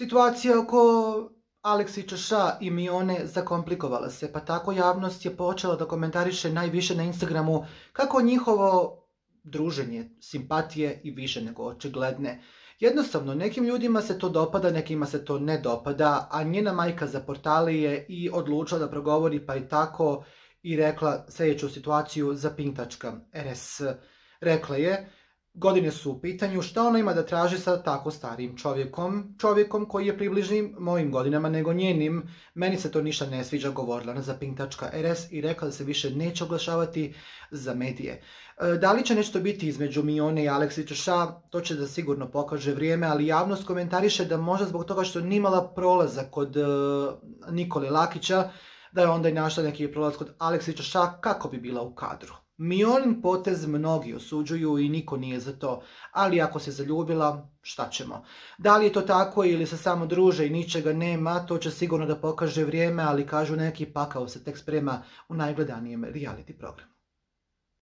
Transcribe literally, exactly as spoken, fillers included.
Situacija oko Aleksića Ša i Mione zakomplikovala se, pa tako javnost je počela da komentariše najviše na Instagramu kako njihovo druženje, simpatije i više nego očigledne. Jednostavno, nekim ljudima se to dopada, nekima se to ne dopada, a njena majka za portale je i odlučila da progovori, pa i tako i rekla sljedeću situaciju za pink tačka er es. Rekla je: godine su u pitanju, šta ona ima da traži sa tako starim čovjekom, čovjekom koji je približnim mojim godinama nego njenim, meni se to ništa ne sviđa, govorila na za pink tačka er es i rekla da se više neće oglašavati za medije. Da li će nešto biti između Mione i Aleksića Ša, to će da sigurno pokaže vrijeme, ali javnost komentariše da možda zbog toga što nije imala prolazak kod uh, Nikole Lakića, da je onda i našla neki prolaz kod Aleksića Ša kako bi bila u kadru. Mionin potez mnogi osuđuju i niko nije za to, ali ako se zaljubila, šta ćemo? Da li je to tako ili se samo druže i ničega nema, to će sigurno da pokaže vrijeme, ali kažu neki pakao se tek sprema u najgledanijem reality programu.